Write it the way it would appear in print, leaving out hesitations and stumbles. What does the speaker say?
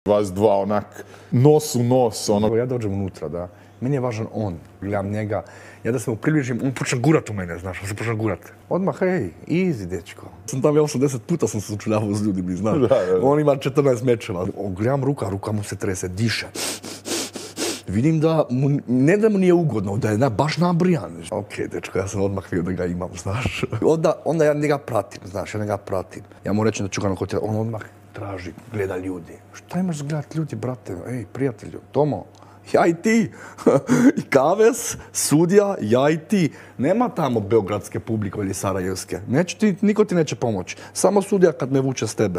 Vas dva onak, nos u nos, ono. Ja dođem unutra, da. Meni je važan on, gledam njega. Ja da se mu približim, on počne gurat u mene, znaš, on se počne gurat. Odmah, hej, easy, dečko. Sam tam, ja 80 puta sam se sučeljavao s ljudima, znaš. Da. On ima 14 mečeva. Gledam ruka mu se trese, diše. Vidim da mu, ne da mu nije ugodno, da je baš nabrijan. Ok, dečko, ja sam odmah vidio da ga imam, znaš. Onda ja njega pratim, znaš, Ja mu rečem da ću ga na hotel, on odmah traži, gleda ljudi. Šta imaš gledat ljudi, brate? Ej, prijatelju, Tomo, ja i ti. I Kavez, sudija, ja i ti. Nema tamo beogradske publike ili sarajevske. Niko ti neće pomoći. Samo sudija kad me vuče s tebe.